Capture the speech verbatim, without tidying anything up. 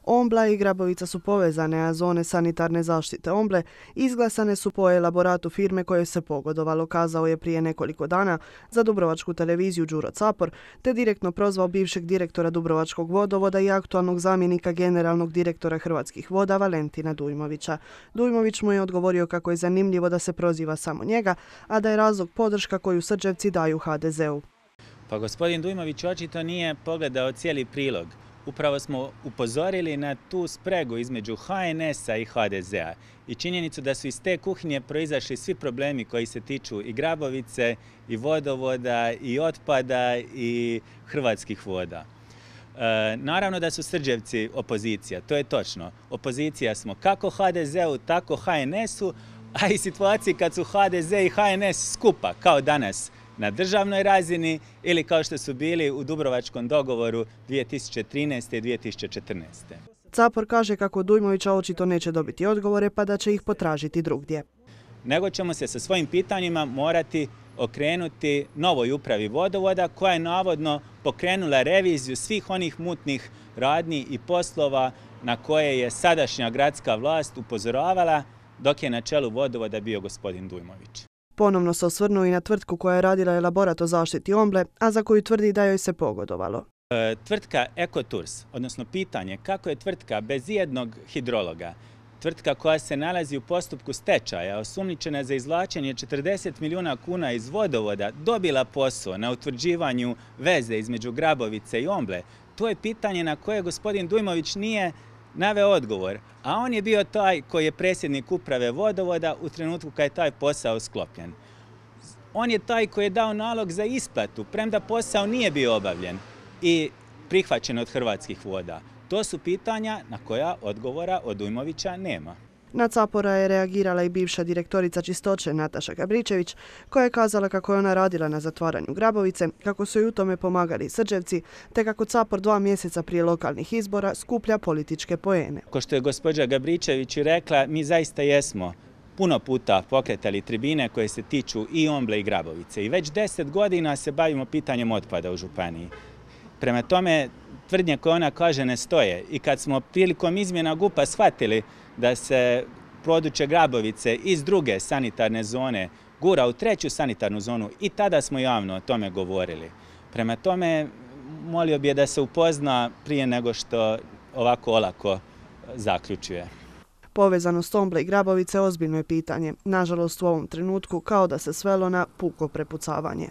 Ombla i Grabovica su povezane, a zone sanitarne zaštite Omble izglasane su po elaboratu firme koje se pogodovalo, kazao je prije nekoliko dana za Dubrovačku televiziju Đuro Capor, te direktno prozvao bivšeg direktora Dubrovačkog vodovoda i aktualnog zamjenika generalnog direktora Hrvatskih voda Valentina Dujmovića. Dujmović mu je odgovorio kako je zanimljivo da se proziva samo njega, a da je razlog podrška koju Srđevci daju ha de zeu. Pa gospodin Dujmović očito nije pogledao cijeli prilog. Upravo smo upozorili na tu spregu između ha en esa i ha de zea i činjenicu da su iz te kuhinje proizašli svi problemi koji se tiču i Grabovice, i vodovoda, i otpada, i Hrvatskih voda. E, naravno da su Srđevci opozicija, to je točno. Opozicija smo kako ha de zeu, tako ha en esu, a i situaciji kad su ha de ze i ha en es skupa, kao danas, na državnoj razini ili kao što su bili u Dubrovačkom dogovoru dvije tisuće trinaeste. i dvije tisuće četrnaeste. Capor kaže kako Dujmovića očito neće dobiti odgovore pa da će ih potražiti drugdje. Nego ćemo se sa svojim pitanjima morati okrenuti novoj upravi vodovoda koja je navodno pokrenula reviziju svih onih mutnih radnji i poslova na koje je sadašnja gradska vlast upozoravala dok je na čelu vodovoda bio gospodin Dujmović. Ponovno se osvrnuo i na tvrtku koja je radila elaborat o zaštiti Omble, a za koju tvrdi da joj se pogodovalo. E, tvrtka Ekotours, odnosno pitanje kako je tvrtka bez ijednog hidrologa, tvrtka koja se nalazi u postupku stečaja, osumnjičena za izvlačenje četrdeset milijuna kuna iz vodovoda, dobila posao na utvrđivanju veze između Grabovice i Omble, to je pitanje na koje gospodin Dujmović nije naveo odgovor, a on je bio taj koji je predsjednik uprave vodovoda u trenutku kad je taj posao sklopljen. On je taj koji je dao nalog za isplatu, premda posao nije bio obavljen i prihvaćen od Hrvatskih voda. To su pitanja na koja odgovora od Dujmovića nema. Na Capora je reagirala i bivša direktorica čistoće Nataša Gabričević, koja je kazala kako je ona radila na zatvaranju Grabovice, kako su joj u tome pomagali Srđevci, te kako Capor dva mjeseca prije lokalnih izbora skuplja političke poene. Ko što je gospođa Gabričević rekla, mi zaista jesmo puno puta pokretali tribine koje se tiču i Omble i Grabovice i već deset godina se bavimo pitanjem otpada u županiji. Prema tome, tvrdnje koje ona kaže ne stoje i kad smo prilikom izmjena G U P-a shvatili da se područje Grabovice iz druge sanitarne zone gura u treću sanitarnu zonu i tada smo javno o tome govorili. Prema tome, molio bih je da se upozna prije nego što ovako olako zaključuje. Povezanost Omble i Grabovice ozbiljno je pitanje. Nažalost, u ovom trenutku kao da se svelo na puko prepucavanje.